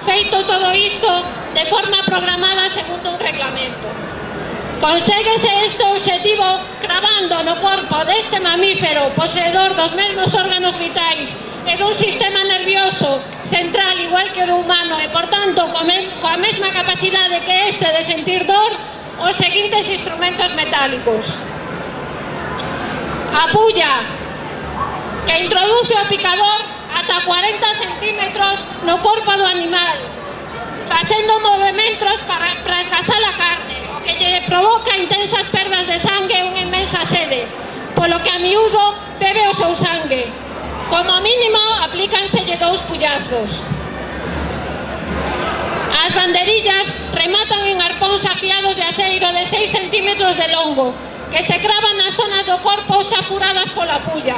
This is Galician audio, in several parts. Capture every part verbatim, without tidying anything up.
feito todo isto de forma programada segundo un reglamento. Conséguese este obxectivo cravando no corpo deste mamífero poseedor dos mesmos órganos vitais e dun sistema nervioso central igual que o do humano e, por tanto, coa mesma capacidade que este de sentir dor, os seguintes instrumentos metálicos. A pulla, que introduce o picador ata cuarenta centímetros no corpo do animal, facendo movimentos para, para esgazar a carne, o que lle provoca intensas perdas de sangue e unha inmensa sede, polo que a miúdo bebe o seu sangue. Como mínimo, aplícanselle dous pullazos. As banderillas rematan en arpóns afiados de aceiro de seis centímetros de longo, que se cravan nas zonas do corpo xa furadas pola pulla.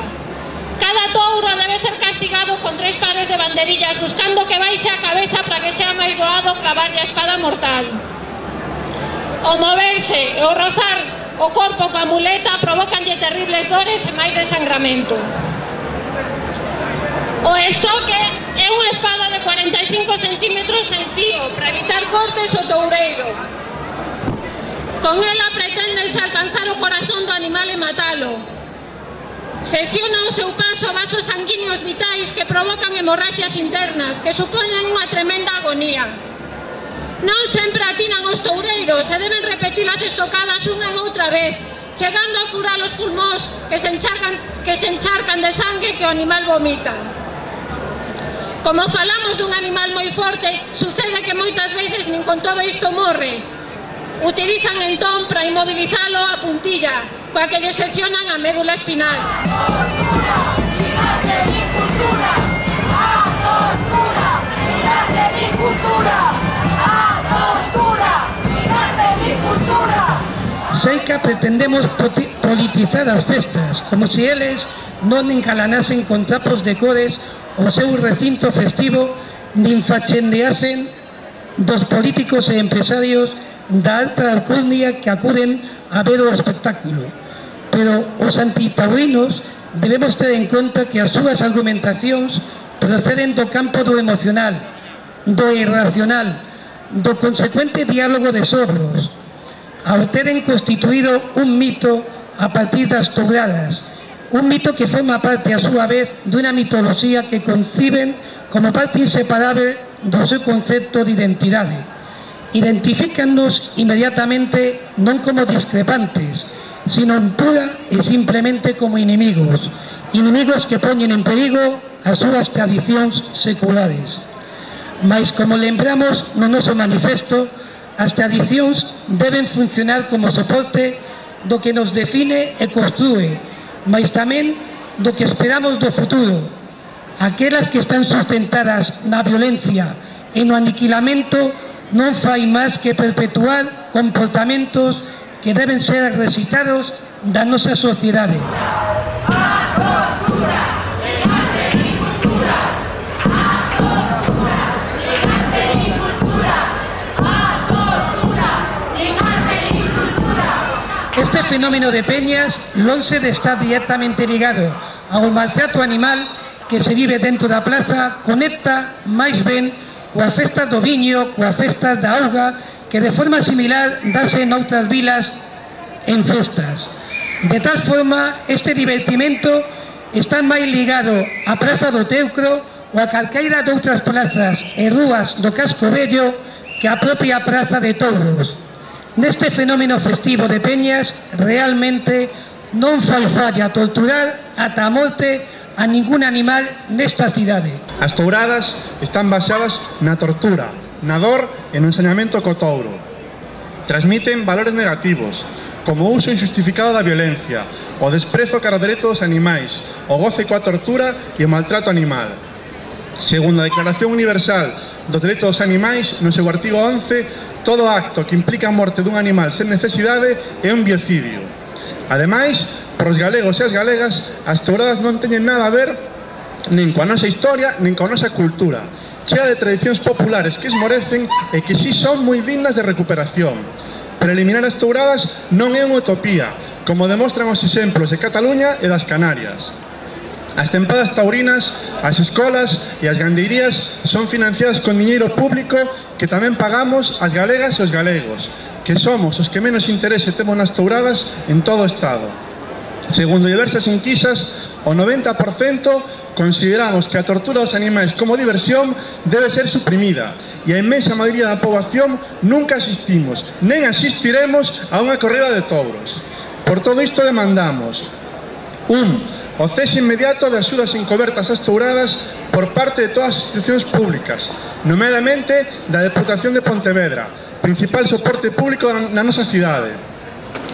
Cada touro debe ser castigado con tres pares de banderillas, buscando que baixe a cabeza para que sea máis doado clavarlle a espada mortal. O moverse e o rozar o corpo coa muleta provocanlle terribles dores e máis desangramento. O estoque é unha espada de cuarenta e cinco centímetros en fío para evitar cortes ao toureiro. Con ela preténdese alcanzar o corazón do animal e matalo. Secciona o seu paso vasos sanguíneos vitais que provocan hemorraxias internas que supoñen unha tremenda agonía. Non sempre atinan os toureiros e deben repetir as estocadas unha e outra vez, chegando a furar os pulmóns que se encharcan, que se encharcan de sangue que o animal vomita. Como falamos dun animal moi forte, sucede que moitas veces nin con todo isto morre. Utilizan entón para inmobilizalo a puntilla, coa que lle seccionan a médula espinal. Seica pretendemos politizar as festas, como se eles non encalanasen con trapos de cores o seu recinto festivo, nin fachendeasen dos políticos e empresarios da alta alcurnia que acuden a ver o espectáculo. Pero os antitaurinos debemos ter en conta que as súas argumentacións proceden do campo do emocional, do irracional, do consecuente diálogo de sordos, ao teren constituído un mito a partir das touradas, un mito que forma parte a súa vez dunha mitoloxía que conciben como parte inseparable do seu concepto de identidade. Identifícannos inmediatamente non como discrepantes, sino pura e simplemente como inimigos, inimigos que poñen en perigo as súas tradicións seculares. Mais, como lembramos no noso manifesto, as tradicións deben funcionar como soporte do que nos define e construe, mas tamén do que esperamos do futuro. Aquelas que están sustentadas na violencia e no aniquilamento non fai máis que perpetuar comportamentos que deben ser recitados da nosa sociedade. Este fenómeno de peñas lonxe de estar directamente ligado ao maltrato animal que se vive dentro da plaza, conecta máis ben coa festa do viño, coa festa da auga, que de forma similar dase noutras vilas en festas. De tal forma, este divertimento está máis ligado á Praza do Teucro ou a calqueira de outras plazas e rúas do casco vello que a propia Praza de Touros. Neste fenómeno festivo de peñas, realmente non fai falla torturar ata a morte a ningún animal nesta cidade. As touradas están baseadas na tortura, na dor e no ensañamento co touro. Transmiten valores negativos, como o uso injustificado da violencia, o desprezo cara ao dereito dos animais, o goce coa tortura e o maltrato animal. Segundo a Declaración Universal dos Dereitos dos Animais, no seu artigo once, todo acto que implica a morte dun animal sen necesidade é un biocidio. Ademais, para os galegos e as galegas, as touradas non teñen nada a ver nin coa nosa historia, nin coa nosa cultura, chea de tradicións populares que esmorecen e que si son moi dignas de recuperación. Pero eliminar as touradas non é unha utopía, como demostran os exemplos de Cataluña e das Canarias. As tempadas taurinas, as escolas e as gandeirías son financiadas con diñeiro público que tamén pagamos as galegas e os galegos, que somos os que menos interese temos nas touradas en todo o Estado. Segundo diversas enquisas, o noventa por cento consideramos que a tortura dos animais como diversión debe ser suprimida e a inmensa maioría da poboación nunca asistimos, nen asistiremos a unha corrida de touros. Por todo isto demandamos un o cese inmediato de axudas encobertas ás touradas por parte de todas as institucións públicas, nomeadamente da Deputación de Pontevedra, principal soporte público na nosa cidade.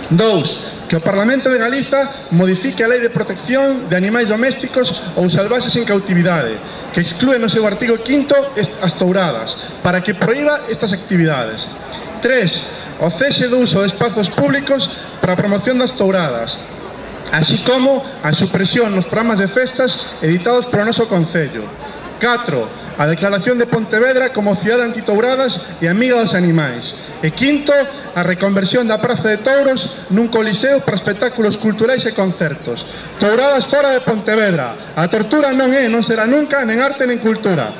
Dous, que o Parlamento de Galiza modifique a Lei de Protección de Animais Domésticos ou Salvaxes en Cautividade, que exclúe no seu artigo quinto as touradas, para que proíba estas actividades. Tres, o cese do uso de espazos públicos para a promoción das touradas, así como a supresión nos programas de festas editados polo noso Concello. catro. A declaración de Pontevedra como cidade antitouradas e amiga dos animais. E quinto, a reconversión da Praza de Touros nun coliseo para espectáculos culturais e concertos. Touradas fora de Pontevedra. A tortura non é, non será nunca, nen arte nen cultura.